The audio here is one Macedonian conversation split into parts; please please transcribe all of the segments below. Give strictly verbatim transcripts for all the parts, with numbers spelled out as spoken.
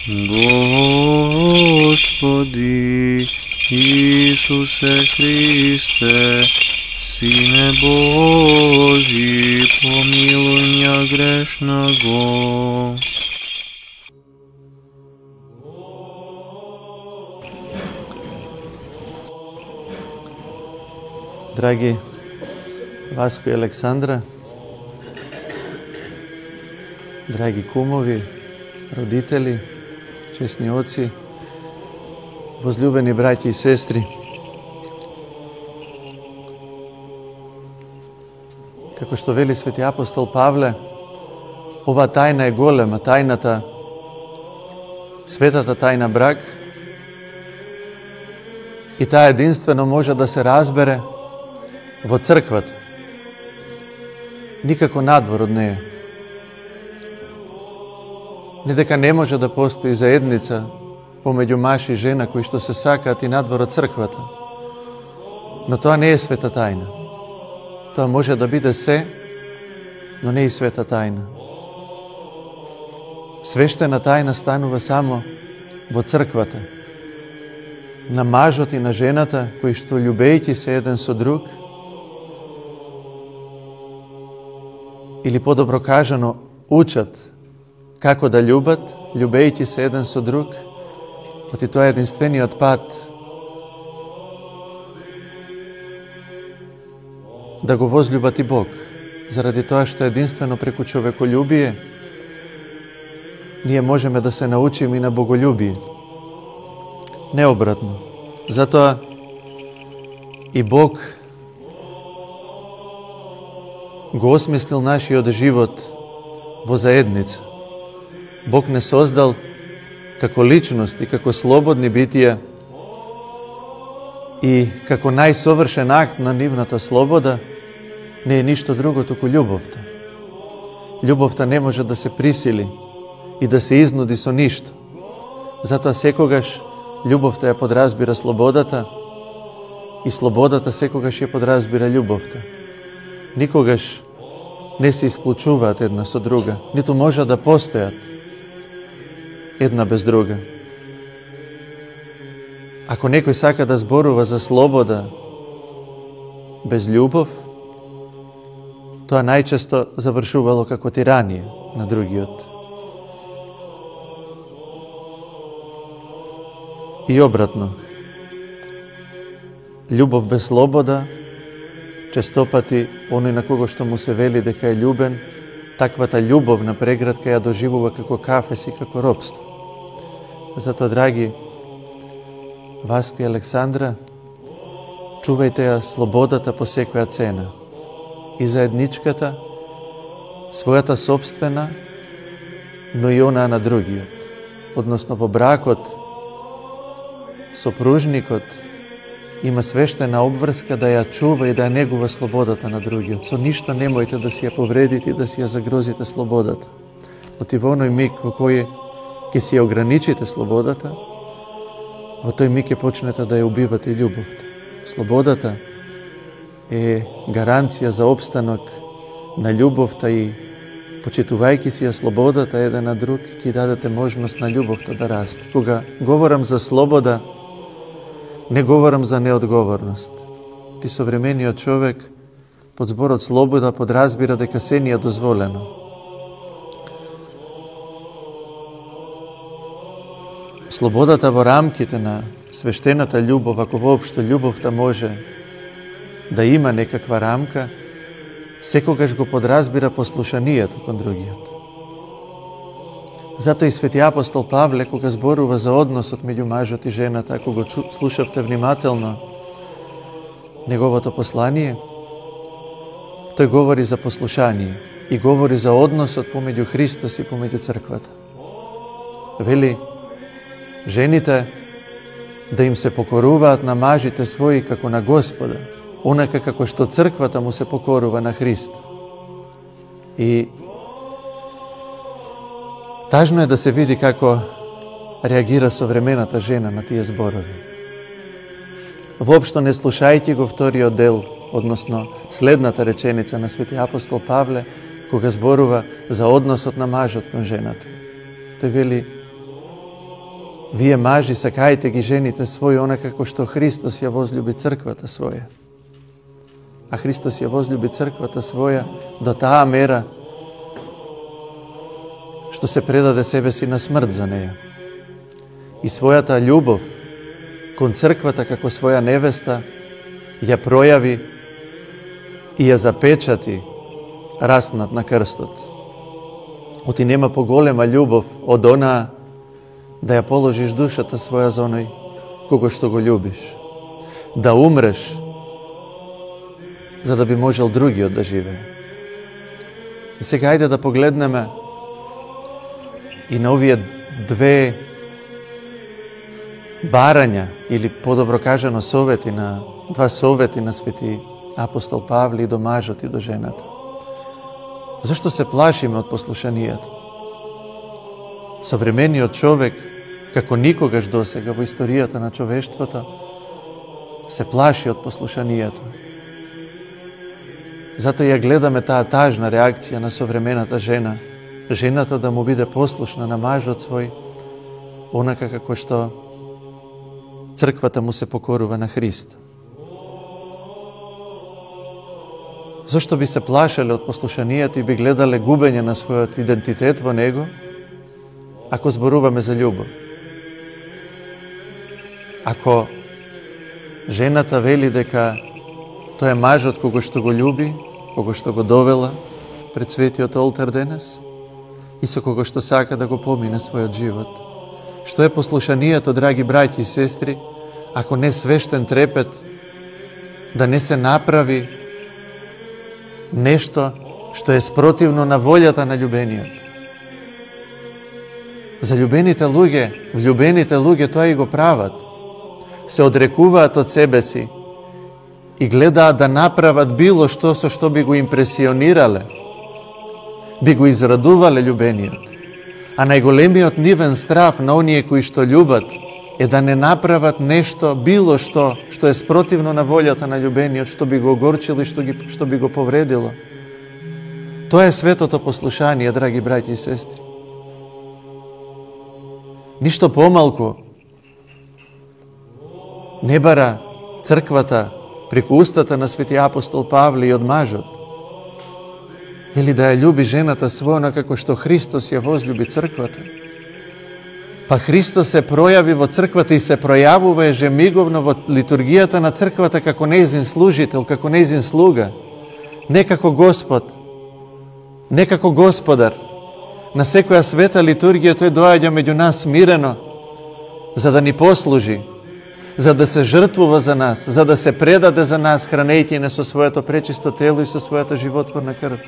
Господи Исусе Христе, Сине Божи, помилуй меня грешного. Драги Васко и Александра, драги кумови, родители, честни оци, возлюбени браќи и сестри, како што вели свети апостол Павле, ова тајна е голема, тајната, светата тајна брак, и таа единствено може да се разбере во црквата, никако надвор од неја. Не дека не може да постои заедница помеѓу маж и жена кои што се сакаат и надвор од црквата, но тоа не е света тајна. Тоа може да биде се, но не и света тајна. Свештена тајна станува само во црквата, на мажот и на жената кои што љубејќи се еден со друг, или подобро кажано, учат како да љубат, љубејќи се еден со друг, оти тоа е единствениот пат да го возлюбат и Бог, заради тоа што единствено преку човеколюбие ние можеме да се научиме и на боголюбие. Не обратно. Затоа и Бог го осмислил нашиот живот во заедница. Бог не создал како личности, како слободни битија и како најсовршен акт на нивната слобода не е ништо друго туку љубовта. Љубовта не може да се присили и да се изнуди со ништо. Затоа секогаш љубовта ја подразбира слободата и слободата секогаш ја подразбира љубовта. Никогаш не се исклучуваат една со друга, ниту може да постојат една без друга. Ако некој сака да зборува за слобода без љубов, тоа најчесто завршувало како тиранија на другиот. И обратно, љубов без слобода, честопати оној на кого што му се вели дека е љубен, таквата љубовна преградка ја доживува како кафес и како робство. Затоа, драги Васко и Александра, чувајте ја слободата по секоја цена. И заедничката, својата собствена, но и онаа на другиот. Односно во бракот, сопружникот има свештена обврска да ја чува и да ја негува слободата на другиот. Со ништо немојте да си ја повредите и да си ја загрозите слободата. Оти во оној миг во кој ќе си ја ограничите слободата, во тој миг ќе почнете да ја убивате љубовта. Слободата е гаранција за опстанок на љубовта и почитувајќи си ја слободата еден на друг, ќе дадете можност на љубовта да расте. Кога говорам за слобода, не говорам за неодговорност. Ти современиот човек под зборот слобода подразбира дека се ни е дозволено. Слободата во рамките на свештената љубов, ако воопшто љубовта може да има некаква рамка, секогаш го подразбира послушанието кон другиот. Затоа и свети апостол Павле, кога зборува за односот меѓу мажот и жената, ако го слушавте внимателно неговото послание, тој говори за послушание и говори за односот помеѓу Христос и помеѓу црквата. Вели, жените да им се покоруваат на мажите своји како на Господа, онака како што црквата му се покорува на Христа. И тажно е да се види како реагира современата жена на тие зборови. Воопшто не слушајќи го вториот дел, односно следната реченица на свети апостол Павле, кога зборува за односот на мажот кон жената. Тој вели, Вие мажи сакајте ги жените своји онака како што Христос ја возлюби црквата своја. А Христос ја возлюби црквата своја до таа мера што се предаде себе си на смрт за неја. И својата љубов кон црквата како своја невеста ја пројави и ја запечати распнат на крстот. Оти нема поголема љубов од онаа да ја положиш душата своја за оној кого што го љубиш. Да умреш за да би можел другиот да живее. И сега ајде да погледнеме и на овие две барања, или подобро кажано совети на два совети на свети апостол Павле и до мажот и до жената. Зашто се плашиме од послушанието? Современиот човек, како никогаш досега во историјата на човештвото, се плаши од послушанието. Затоа ја гледаме таа тажна реакција на современата жена, жената да му биде послушна на мажот свој, онака како што црквата му се покорува на Христа. Зошто би се плашеле од послушанието и би гледале губење на својот идентитет во него, ако зборуваме за љубов? Ако жената вели дека тој е мажот кого што го љуби, кого што го довела пред светиот олтар денес и со кого што сака да го помине својот живот. Што е послушанието, драги браќи и сестри, ако не свештен трепет да не се направи нешто што е спротивно на волјата на љубениот? За љубените луѓе, влюбените луѓе тоа и го прават. Се одрекуваат од себе си и гледаат да направат било што со што би го импресионирале, би го израдувале љубениот. А најголемиот нивен страф на оние кои што љубат е да не направат нешто, било што, што е спротивно на волјата на љубениот, што би го огорчило и што, ги, што би го повредило. Тоа е светото послушание, драги браќи и сестри. Ништо помалку не бара црквата преку устата на свети апостол Павле и од мажот. Вели да ја љуби жената своја како што Христос ја возлюби црквата. Па Христос се пројави во црквата и се пројавува ежемиговно во литургијата на црквата како нејзин служител, како нејзин слуга, не како Господ, не како Господар. На секоја света литургија тој доаѓа меѓу нас смирено, за да ни послужи, за да се жртвува за нас, за да се предаде за нас, хранејќи не со своето пречисто тело и со својата животворна крв.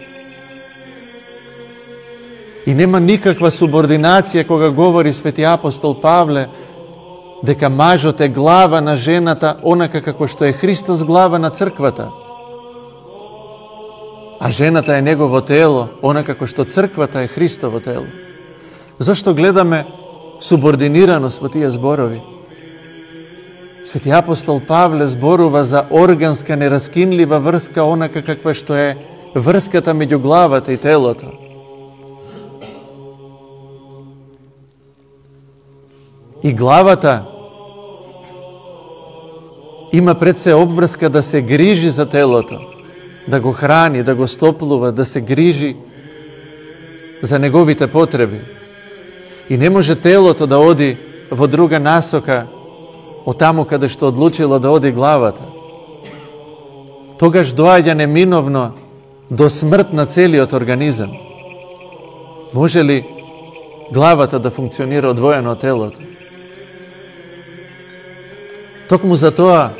И нема никаква субординација кога говори свети апостол Павле дека мажот е глава на жената, онака како што е Христос глава на црквата. А жената е негово тело, онака како што црквата е Христово тело. Зошто гледаме субординираност во тие зборови? Свети апостол Павле зборува за органска, нераскинлива врска, онака каква што е врската меѓу главата и телото. И главата има пред се обврска да се грижи за телото, да го храни, да го стоплува, да се грижи за неговите потреби. И не може телото да оди во друга насока од таму каде што одлучило да оди главата. Тогаш доаѓа неминовно до смрт на целиот организам. Може ли главата да функционира одвоено од телото? Токму за тоа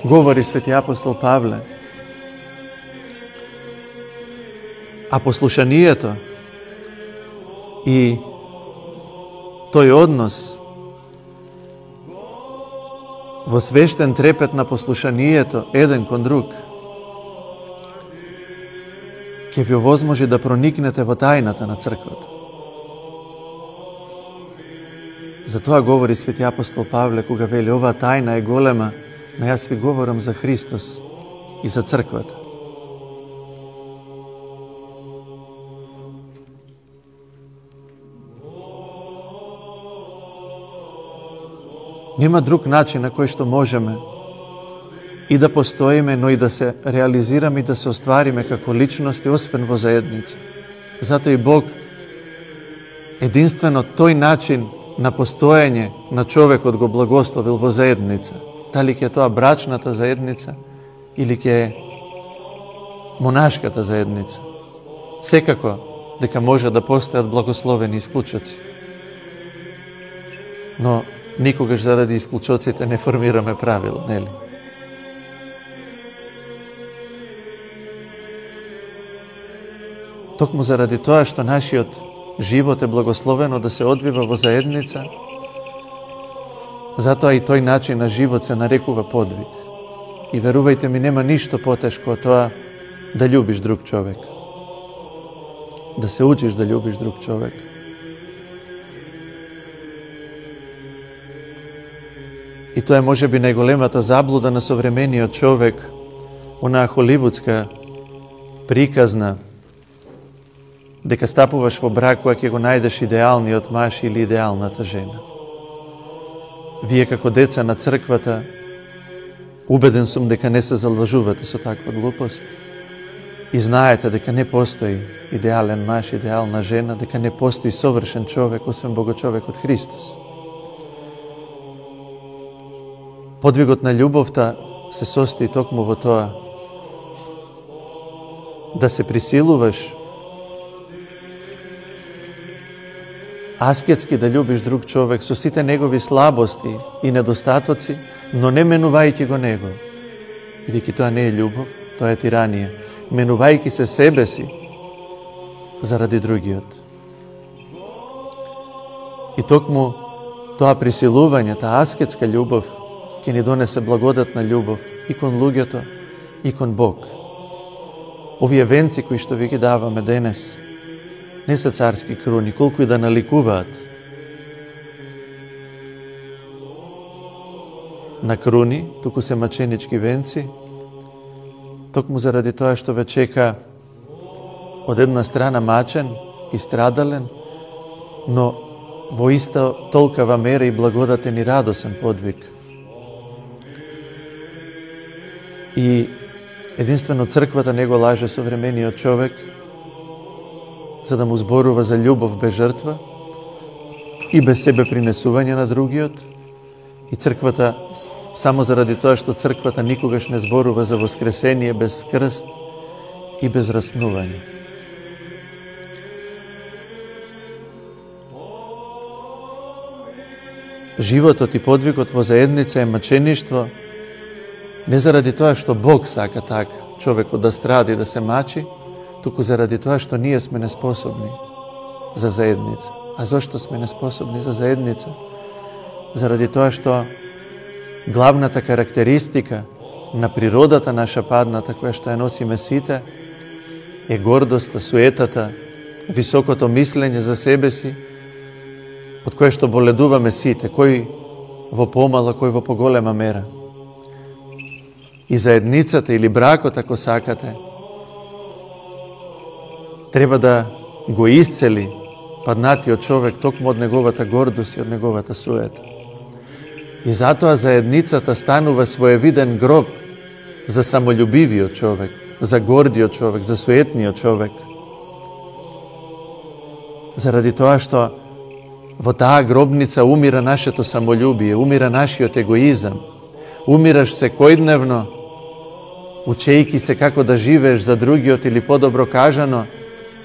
говори свети апостол Павле. А послушанието и тој однос во свештен трепет на послушанието еден кон друг ќе ви овозможи да проникнете во тајната на црквата. За тоа говори свети апостол Павле кога вели оваа тајна е голема, но јас ви говорам за Христос и за црквата. Нема друг начин на кој што можеме и да постоиме, но и да се реализираме и да се оствариме како личности, освен во заедница. Затоа и Бог единствено тој начин на постоење на човекот го благословил во заедница. Дали ќе тоа брачната заедница или ќе монашката заедница. Секако дека може да постојат благословени исклучоци. Но никогаш заради исклучоците не формираме правило, нели? Токму заради тоа што нашиот живот е благословено да се одвива во заедница, затоа и тој начин на живот се нарекува подвиг. И верувајте ми, нема ништо потешко од тоа да љубиш друг човек. Да се учиш да љубиш друг човек. И тоа е можеби најголемата заблуда на современиот човек, онаа холивудска приказна, дека стапуваш во брак кога ќе го најдеш идеалниот маж или идеалната жена. Вие како деца на црквата, убеден сум дека не се залажувате со таква глупост и знаете дека не постои идеален маж, идеална жена, дека не постои совршен човек, освен Богочовекот Христос. Подвигот на љубовта се состои токму во тоа да се присилуваш аскетски да љубиш друг човек со сите негови слабости и недостатоци, но не менувајќи го него. Бидејќи тоа не е љубов, тоа е тиранија. Менувајќи се себе си заради другиот. И токму тоа присилување, таа аскетска љубов ќе ни донесе благодатна љубов и кон луѓето, и кон Бог. Овие венци кои што ви ги даваме денес не се царски круни, колку и да наликуваат на круни, туку се маченички венци, токму заради тоа што ве чека од една страна мачен и страдален, но во иста толкава мера и благодатен и радосен подвиг. И единствено црквата не го лаже современиот човек, за да му зборува за љубов без жртва и без себе принесување на другиот. И црквата, само заради тоа што црквата никогаш не зборува за воскресение без крст и без распнување. Животот и подвигот во заедница е мачеништво, не заради тоа што Бог сака така човекот да стради, да се мачи, туку заради тоа што ние сме неспособни за заедница. А зошто сме неспособни за заедница? Заради тоа што главната карактеристика на природата наша падната, која што ја носиме сите, е гордоста, суетата, високото мислење за себе си, од кое што боледуваме сите, кој во помала, кој во поголема мера. И заедницата или бракот, ако сакате, треба да го исцели паднатиот човек токму од неговата гордост и од неговата суета. И затоа заедницата станува своевиден гроб за самолюбивиот човек, за гордиот човек, за суетниот човек. Заради тоа што во таа гробница умира нашето самолюбие, умира нашиот егоизам, умираш секојдневно, учејки се како да живееш за другиот или подобро кажано,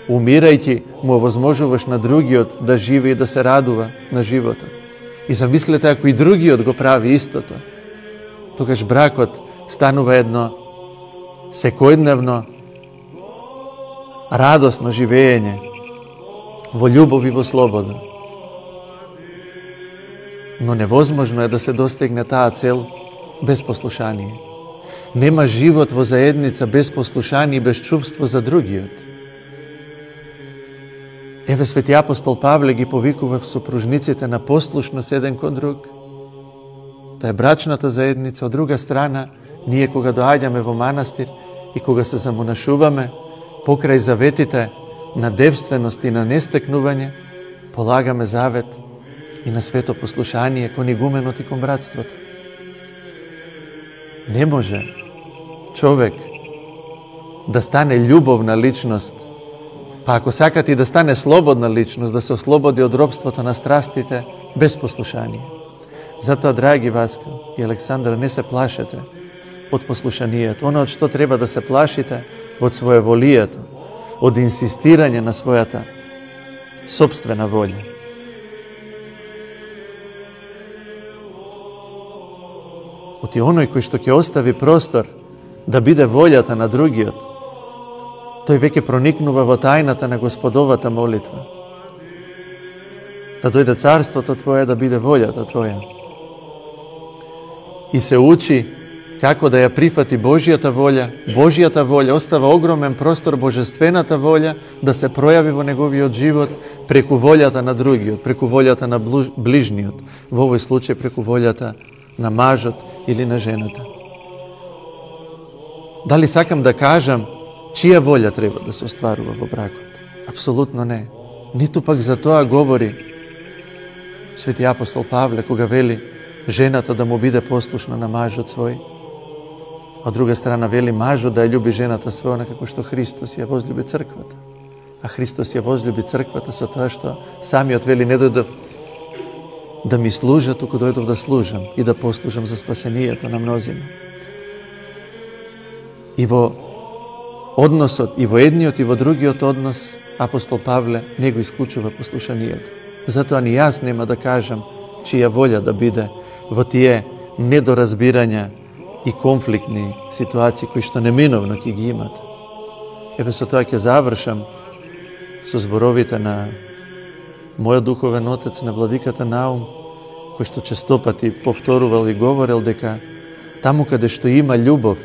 умирајќи му овозможуваш на другиот да живе и да се радува на животот. И замислете ако и другиот го прави истото, тогаш бракот станува едно секојдневно радосно живење во љубов и во слобода. Но невозможно е да се достигне таа цел без послушание. Нема живот во заедница без послушание и без чувство за другиот. Еве свети апостол Павле ги повикува сопружниците на послушност еден кон друг. Тоа е брачната заедница. Од друга страна, ние кога доаѓаме во манастир и кога се замонашуваме, покрај заветите на девственост и на нестекнување, полагаме завет и на свето послушание кон игуменот и кон братството. Не може човек да стане љубовна личност, па ако сакате и да стане слободна личност, да се ослободи од робството на страстите без послушание. Затоа, драги Васка и Александра, не се плашете од послушанието. Оно од што треба да се плашите, од своеволието, од инсистирање на својата собствена волја. Оти оној кој што ќе остави простор да биде волјата на другиот, тој веќе проникнува во тајната на Господовата молитва. Да дојде царството Твое, да биде волјата Твоја. И се учи како да ја прифати Божијата волја. Божијата волја остава огромен простор, божествената волја да се пројави во неговиот живот преку волјата на другиот, преку волјата на ближниот, во овој случај преку волјата на мажот или на жената. Дали сакам да кажам чија волја треба да се остварува во бракот? Апсолутно не. Ниту пак за тоа говори свети апостол Павле, кога вели жената да му биде послушна на мажот свој. Од друга страна вели мажот да ја љуби жената своја како што Христос ја возлюби црквата. А Христос ја возлюби црквата со тоа што самиот вели не дојдов да ми служа, туку дојдов да служам и да послужам за спасението на мнозина. И во односот и во едниот и во другиот однос апостол Павле не го исклучува послушанието. Затоа ни јас нема да кажам чија волја да биде во тие недоразбирања и конфликтни ситуации кои што неминовно ќе ги имат. Еве со тоа ќе завршам со зборовите на мојот духовен отец, на владиката Наум, кој што честопати повторувал и говорел дека таму каде што има љубов,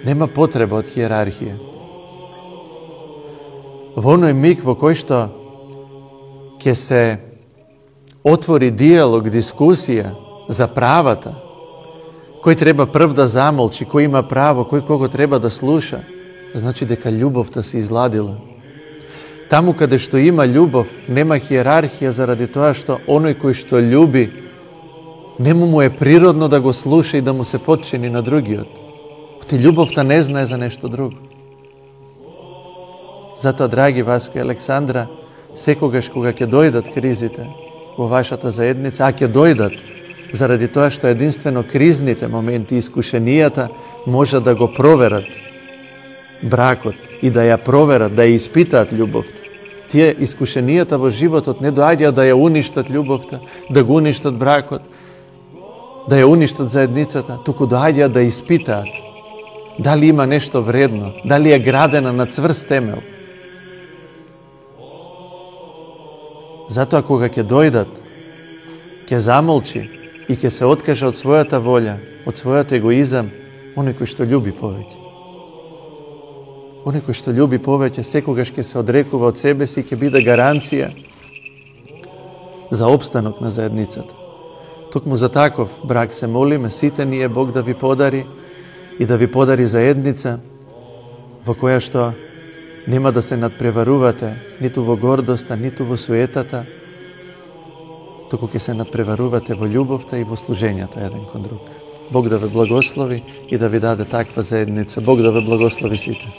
нема потреба од хиерархија. Во оној миг во кој што ќе се отвори диалог, дискусија за правата, кој треба прв да замолчи, кој има право, кој кого треба да слуша, значи дека љубовта се изладила. Таму каде што има љубов, нема хиерархија заради тоа што оној кој што љуби, нему му е природно да го слуша и да му се подчини на другиот. Ти љубовта не знае за нешто друго. Затоа, драги Васко и Александра, секогаш кога ќе дојдат кризите во вашата заедница, а ќе дојдат, заради тоа што единствено кризните моменти и искушенијата може да го проверат бракот и да ја проверат, да ја испитаат љубовта. Тие искушенијата во животот не доаѓаат да ја уништат љубовта, да го уништат бракот, да ја уништат заедницата, туку доаѓаат да испитаат дали има нешто вредно, дали е градена на цврст темел. Затоа кога ќе дојдат, ќе замолчи и ќе се откаже од својата волја, од својот егоизам, оној кој што љуби повеќе. Оној кој што љуби повеќе, секогаш ќе се одрекува од себе си и ќе биде гаранција за опстанок на заедницата. Токму за таков брак се молиме, сите ние Бог да ви подари и да ви подари заедница во која што нема да се надпреварувате ниту во гордоста, ниту во суетата, туку ќе се надпреварувате во љубовта и во служењето еден кон друг. Бог да ве благослови и да ви даде таква заедница. Бог да ве благослови сите.